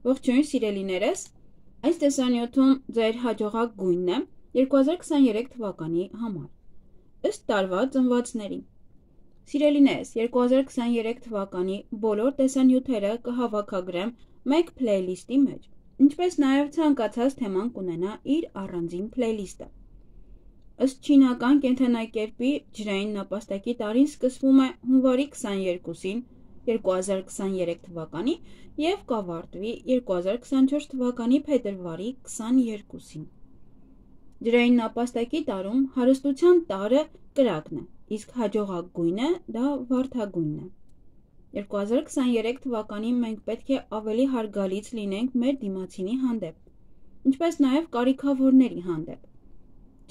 Ողջույն սիրելիներս, այս տեսանյութում ձեր հաջողակ գույնն է 2023 թվականի համար, ըստ տարվա ծնվածների։ Սիրելիներս, 2023 թվականի բոլոր տեսանյութերը կհավաքագրեմ մեկ փլեյլիստի մեջ, ինչպես նաև ցանկացած թեման կունենա իր առանձին փլեյլիստը։ Ըստ չինական կենդանակերպի ջրային նապաստակի տարին սկսվում է հունվարի 22-ին 2023 թվականի և կավարտվի 2024 թվականի փետրվարի 22-ին։ Ջրային նապաստակի տարում հարստության տարը կրակն է, իսկ հաջողակ գույնը դա վարդագույնն է։ 2023 թվականին մենք պետք է ավելի հարգալից լինենք մեր դիմացինի հանդեպ, ինչպես նաև կարիքավորների հանդեպ։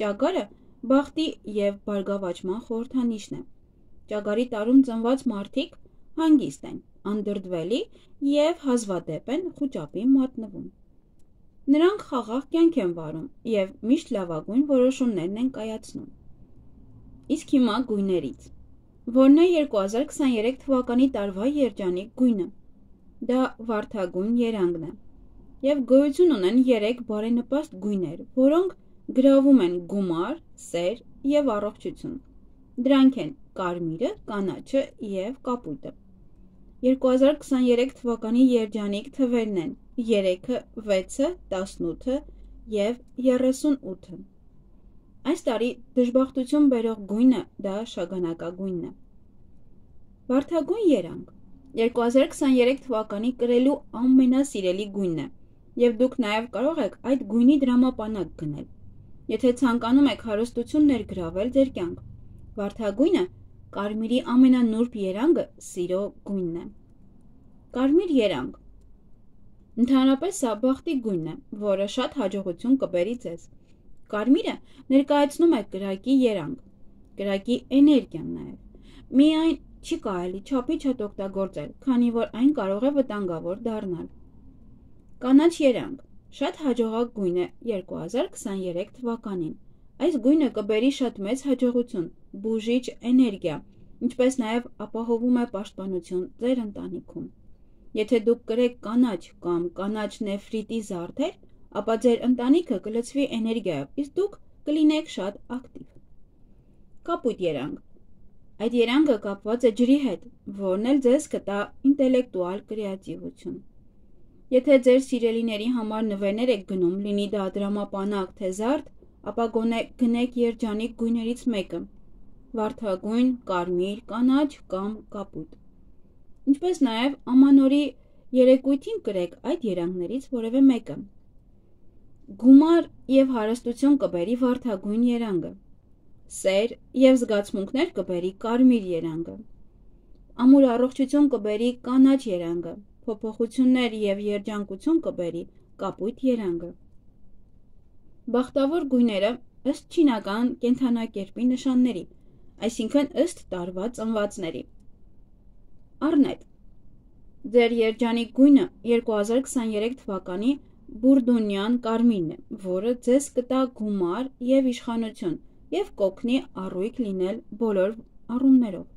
Ճագարը բախտի և բարգավաճման խորհրդանիշն է։ Ճագարի տարում ծնված մարդիկ հանգիստ են, անդրդվելի և հազվադեպ են խուճապի մատնվում։ Նրանք խաղաղ կյանք են վարում և միշտ լավագույն որոշումներն են կայացնում։ Իսկ հիմա գույներից։ Որն է 2023 թվականի տարվա երջանիկ գույնը։ Դա վարդագույն երանգն է։ Եվ գոյություն ունեն 3 բարենպաստ գույներ, որոնք գրավում են գումար, սեր և առողջություն։ Դրանք են կարմիրը, կանաչը և կապույտը։ 2023 թվականի երջանիկ թվերն են 3-ը, 6-ը, 18-ը և 38-ը։ Այս տարի դժբախտություն բերող գույնը դա շագանակագույնն է։ Վարդագույն երանգ 2023 թվականի կրելու ամենասիրելի գույնն է, և դուք նաև կարող եք այդ գույնի դրամապանակ գնել, եթե ցանկանում եք հարստություն ներգրավել ձեր կյանք։ Վարդագույնը կարմիրի ամենանուրբ երանգը սիրո գույնն է։ Կարմիր երանգ։ Ընդհանրապես սա բախտի գույնն է, որը շատ հաջողություն կբերի ձեզ։ Կարմիրը ներկայացնում է կրակի երանգ, կրակի էներգիան նաև։ Միայն չի կարելի չափի չափ օգտագործել, քանի որ այն կարող է վտանգավոր դառնալ։ Կանաչ երանգ։ Շատ հաջողակ գույն է 2023 թվականին։ Այս գույնը կբերի շատ մեծ հաջողություն, բուժիչ էներգիա, ինչպես նաև ապահովում է պաշտպանություն ձեր ընտանիքում։ Եթե դուք կրեք կանաչ կամ կանաչ նեֆրիտի զարդեր, ապա ձեր ընտանիքը կլցվի էներգիայով, իսկ դուք կլինեք շատ ակտիվ։ Կապույտ երանգ։ Այդ երանգը կապված է ջրի հետ, որն էլ ձեզ կտա ինտելեկտուալ կրեատիվություն։ Եթե ձեր սիրելիների համար նվերներ եք գնում, լինի դա դրամապանակ թե զարդ, ապա գոնե գնեք երջանիկ գույներից մեկը՝ վարդագույն, կարմիր, կանաչ կամ կապույտ։ Ինչպես նաև ամանորի երեկույթին կրեք այդ երանգներից որևէ մեկը։ Գումար և հարստություն կբերի վարդագույն երանգը։ Սեր և զգացմունքներ կբերի կարմիր երանգը։ Ամուր առողջություն կբերի կանաչ երանգը։ Փոփոխություններ և երջանկություն կբերի կապույտ երանգը։ Բախտավոր գույները ըստ չինական կենդանակերպի նշանների, այսինքն ըստ տարվա ծնվածների։ Առնետ։ Ձեր երջանիկ գույնը 2023 թվականի բուրդունյան կարմիրն է, որը ձեզ կտա գումար և իշխանություն և կօգնի առույգ լինել բոլոր առումներով։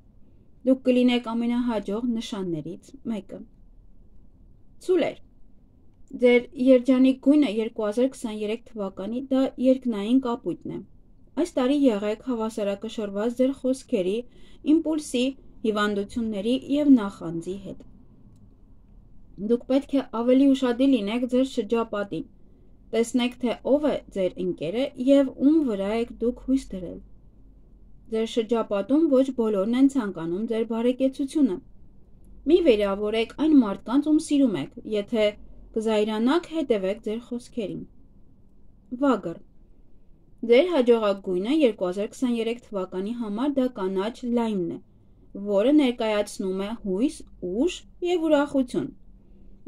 Դուք կլինեք ամենահաջող նշաններից մեկը։ Ցուլեր։ Ձեր երջանիկ գույնը 2023 թվականի դա երկնային կապույտն է։ Այս տարի եղեք հավասարակշռված ձեր խոսքերի, իմպուլսի, հիվանդությունների և նախանձի հետ։ Դուք պետք է ավելի ուշադիր լինեք ձեր շրջապատին։ Տեսնեք, թե ով է ձեր ընկերը և ում վրա եք դուք հույս դրել։ Ձեր շրջապատում ոչ բոլորն են ցանկանում ձեր բարեկեցությունը։ Մի վիրավորեք այն մարդկանց, ում սիրում եք, եթե կզայրանաք, հետևեք ձեր խոսքերին։ Վագր։ Ձեր հաջողակ գույնը 2023 թվականի համար դա կանաչ լայմն է, որը ներկայացնում է հույս, ուժ և ուրախություն։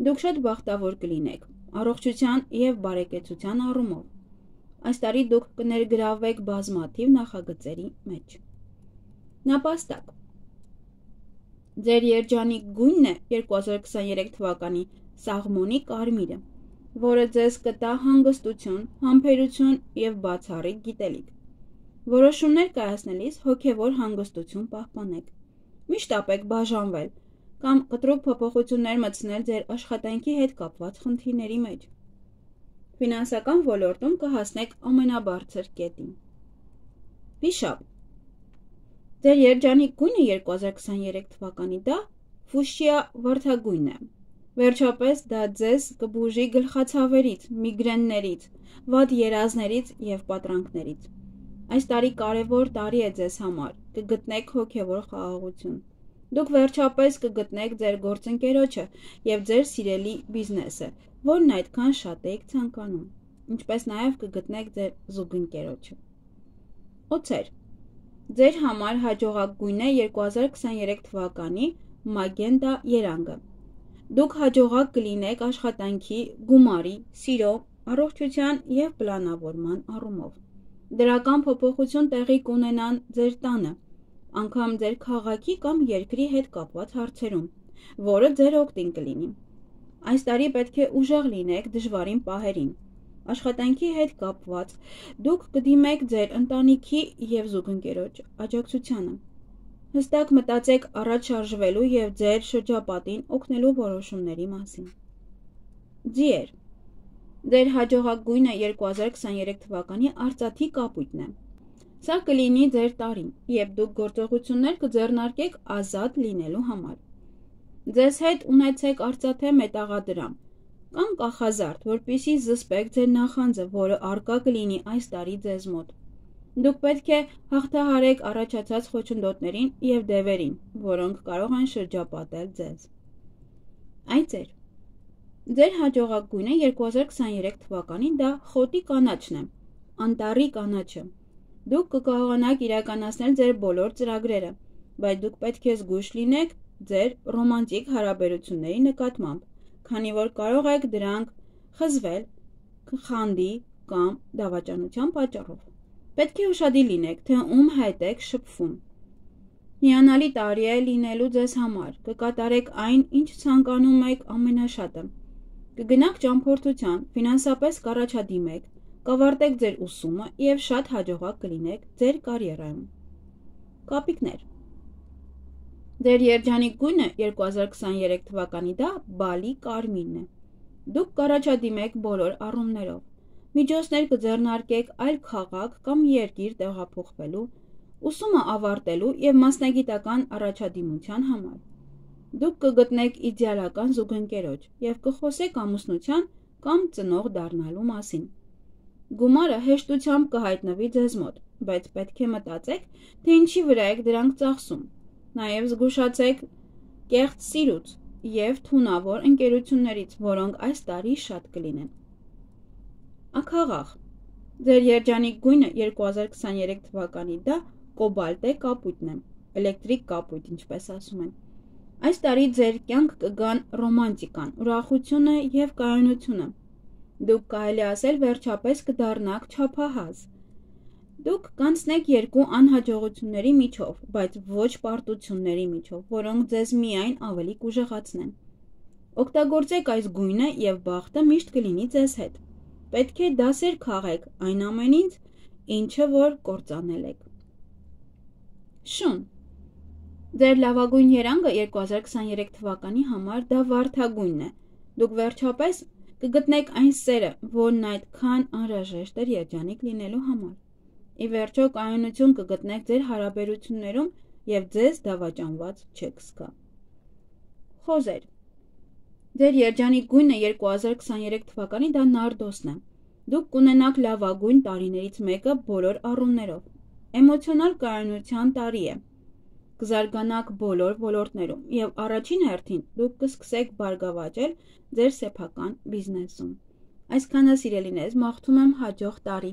Դուք շատ բախտավոր կլինեք առողջության և բարեկեցության առումով։ Այս տարի դուք կներգրավվեք բազմաթիվ նախագծերի մեջ։ Նապաստակ։ Ձեր երջանիկ գույնն է 2023 թվականի սաղմոնի կարմիրը, որը ձեզ կտա հանգստություն, համբերություն և բացառիկ գիտելիք։ Որոշումներ կայացնելիս հոգևոր հանգստություն պահպանեք։ Մի շտապեք բաժանվել, կամ կտրուկ փոփոխություններ մտցնել ձեր աշխատանքի հետ կապված խնդիրների մեջ։ Ֆինանսական ոլորտում կհասնեք ամենաբարձր կետին։ Վիշապ։ Ձեր երջանիկ գույնը 2023 թվականի դա ֆուշիա վարդագույնն է։ Վերջապես դա ձեզ կբուժի գլխացավերից, միգրեններից, վատ երազներից և պատրանքներից։ Այս տարի կարևոր տարի է ձեզ համար, կգտնեք հոգևոր խաղաղություն։ Դուք վերջապես կգտնեք ձեր գործընկերոջը և ձեր սիրելի բիզնեսը, որն այդքան շատ էիք ցանկանում, ինչպես նաև կգտնեք ձեր զուգընկերոջը։ Օձեր։ Ձեր համար հաջողակ գույն է 2023 թվականի մագենտա երանգը։ Դուք հաջողակ կլինեք աշխատանքի, գումարի, սիրո, առողջության և պլանավորման առումով։ Դրական փոփոխություն տեղի կունենան ձեր տանը, անգամ ձեր քաղաքի կամ երկրի հետ կապված հարցերում, որը ձեր օգտին կլինի։ Այս տարի պետք է ուժեղ լինեք դժվարին պահերին։ Աշխատանքի հետ կապված դուք կդիմեք ձեր ընտանիքի և զուգընկերոջ աջակցությանը։ Հստակ մտածեք առաջ շարժվելու և ձեր շրջապատին օգնելու որոշումների մասին։ Ձիեր։ Ձեր հաջողակ գույնը 2023 թվականի արծաթի կապույտն է։ Սա կլինի ձեր տարին, երբ դուք գործողություններ կձեռնարկեք ազատ լինելու համար։ Ձեզ հետ ունեցեք արծաթե մետաղադրամ կամ կախազարդ, որպեսզի զսպեք ձեր նախանձը, որը առկա կլինի այս տարի ձեզ մոտ։ Դուք պետք է հաղթահարեք առաջացած խոչընդոտներին և դևերին, որոնք կարող են շրջապատել ձեզ։ Այծեր։ Ձեր հաջողակ գույնը 2023 թվականի դա խոտի կանաչն է, անտառի կանաչը։ Դուք կկարողանաք իրականացնել ձեր բոլոր ծրագրերը, բայց դուք պետք է զգույշ լինեք ձեր ռոմանտիկ հարաբերությունների նկատմամբ, քանի որ կարող եք դրանք խզվել խանդի կամ դավաճանության պատճառով։ Պետք է ուշադիր լինեք, թե ում հետ եք շփվում։ Հիանալի տարի է լինելու ձեզ համար, կկատարեք այն, ինչ ցանկանում եք ամենաշատը։ Կգնաք ճամփորդության, ֆինանսապես կառաջադիմեք, կավարտեք ձեր ուսումը և շատ հաջողակ կլինեք ձեր կարիերայում։ Կապիկներ։ Ձեր երջանիկ գույնը 2023 թվականի դա բալի կարմիրն է։ Դուք կառաջադիմեք բոլոր առումներով։ Միջոցներ կձեռնարկեք այլ քաղաք կամ երկիր տեղափոխվելու, ուսումը ավարտելու և մասնագիտական առաջադիմության համար։ Դուք կգտնեք իդեալական զուգընկերոջ և կխոսեք ամուսնության կամ ծնող դառնալու մասին։ Գումարը հեշտությամբ կհայտնվի ձեզ մոտ, բայց պետք է մտածեք, թե ինչի վրա եք դրանք ծախսում։ Նաև զգուշացեք կեղծ սիրուց և թունավոր ընկերություններից, որոնք այս տարի շատ կլինեն։ Աքաղաղ։ Ձեր երջանիկ գույնը 2023 թվականի դա կոբալտե կապույտն է, էլեկտրիկ կապույտ, ինչպես ասում են։ Այս տարի ձեր կյանք կգան ռոմանտիկան, ուրախությունը և կայունությունը։ Դուք կարելի ասել վերջապես կդառնաք չափահաս։ Դուք կանցնեք երկու անհաջողությունների միջով, բայց ոչ պարտությունների միջով, որոնք ձեզ միայն ավելի կուժեղացնեն։ Օգտագործեք այս գույնը և բախտը միշտ կլինի ձեզ հետ։ Պետք է դասեր քաղեք այն ամենից, ինչը որ կործանել եք։ Շուն։ Ձեր լավագույն երանգը 2023 թվականի համար դա վարդագույնն է։ Դուք վերջապես կգտնեք այն սերը, որն այդքան անհրաժեշտ էր երջանիկ լինելու համար։ Ի վերջո կայունություն կգտնեք ձեր հարաբերություններում և ձեզ դավաճանված չեք զգա։ Խոզեր։ Ձեր երջանիկ գույնը 2023 թվականի դա նարդոսն է։ Դուք կունենաք լավագույն տարիներից մեկը բոլոր առումներով։ Էմոցիոնալ կայունության տարի է։ Կզարգանաք բոլոր ոլորտներում և առաջին հերթին դուք կսկսեք բարգավաճել ձեր սեփական բիզնեսում։ Այսքանը սիրելիներս, մաղթում եմ հաջող տարի։